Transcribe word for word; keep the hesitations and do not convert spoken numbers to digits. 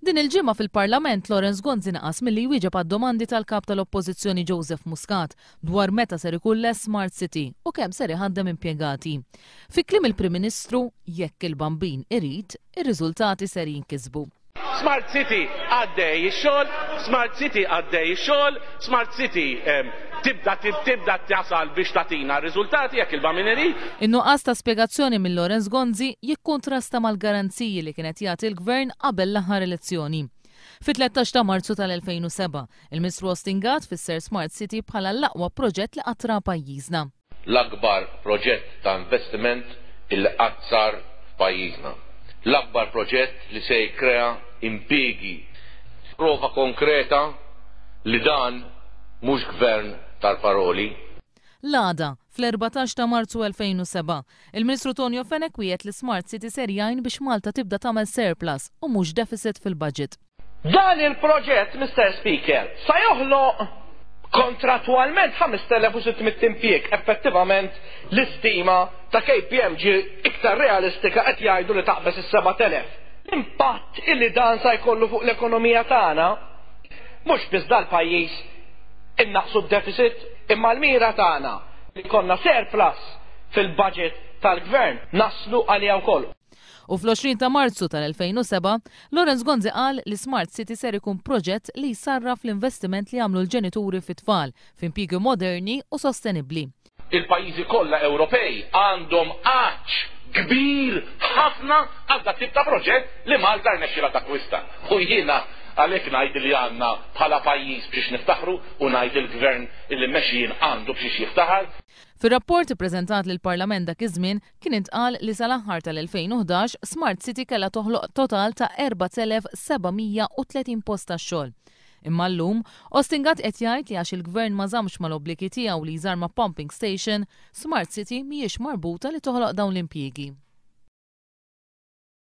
Din il-ġimgħa fil-Parlament, Lawrence Gonzi naqas milli jwieġeb għad-domandi tal-kap tal-Oppożizzjoni Joseph Muscat dwar meta ser ikun lest Smart City u kemm ser iħaddem impjegati. Fi kliem il-Prim Ministru, jekk il-Bambin irid, ir-riżultati ser jinkisbu. Smart City għaddej ix-xogħol, Smart City għaddej ix-xogħol, Smart City tibda tibda tasal biex tagħtina r-riżultati jekk il-Bambin irid. In-nuqqas ta' spjegazzjoni minn Lawrence Gonzi jikkontrasta mal-garanziji li kienet jagħti l-Gvern qabel l-aħħar elezzjoni. Fit-tlettax ta' Marzu tal-elfejn u sebgħa, il-Ministru Austin Gatt fisser Smart City bħala l-aqwa proġett li qatt ra pajjiżna. L-akbar proġett ta' investiment illi qatt sar f'pajjiżna. L-akbar proġett li se jikkrea impjiegi. Prova konkreta li dan mhux gvern tal-paroli. L-għada, fl-erbatax ta' Marzu elfejn u sebgħa, il-Ministru Tonio Fenech wiegħed li Smart City ser jgħin biex Malta tibda tagħmel surplus u mhux deficit fil-budget. Dan il-proġett, Mister Speaker, sa joħloq kontratwalment ħamest elef u sitt mitt impjieg, effettivament l-istima ta' K P M G iktar realistika qed jgħidu li taqbeż is-sebat elef. L-impatt illi dan sa jkollu fuq l-ekonomija tagħna, mhux biss dal-pajjiż innaqsu d-deficit, imma l-mira tagħna li jkollna surplus fil-budget tal-gvern naslu għalija wkoll. U fl-għoxrin ta' Marzu tal-elfejn u sebgħa, Lawrence Gonzi qal li Smart City ser ikun proġett li jsarraf l-investiment li għamlu l-ġenituri fit-tfal f'impjiegi moderni u sostenibbli. Il-pajjiżi kollha Ewropej għandhom għatx kbir ħafna għal dat tip ta' proġett li Malta rnexxila takkwista. U jiena għalhekk ngħid li għandna bħala pajjiż biex niftaħru u ngħid il-gvern illi mmexxi jien għandu biex jiftaħar. Fir-rapport ippreżentat lill-Parlament dak iż-żmien kien intqal li sal-aħħar tal-elfejn u ħdax Smart City kellha toħloq total ta' erbat elef seba' mija u tletin post ta' xogħol. Imma llum, Austin Gatt qed jgħid li għax il-gvern ma żammx mal-obbligi tiegħu li jżarma pumping station, Smart City mhijiex marbuta li toħloq dawn l-impjiegi.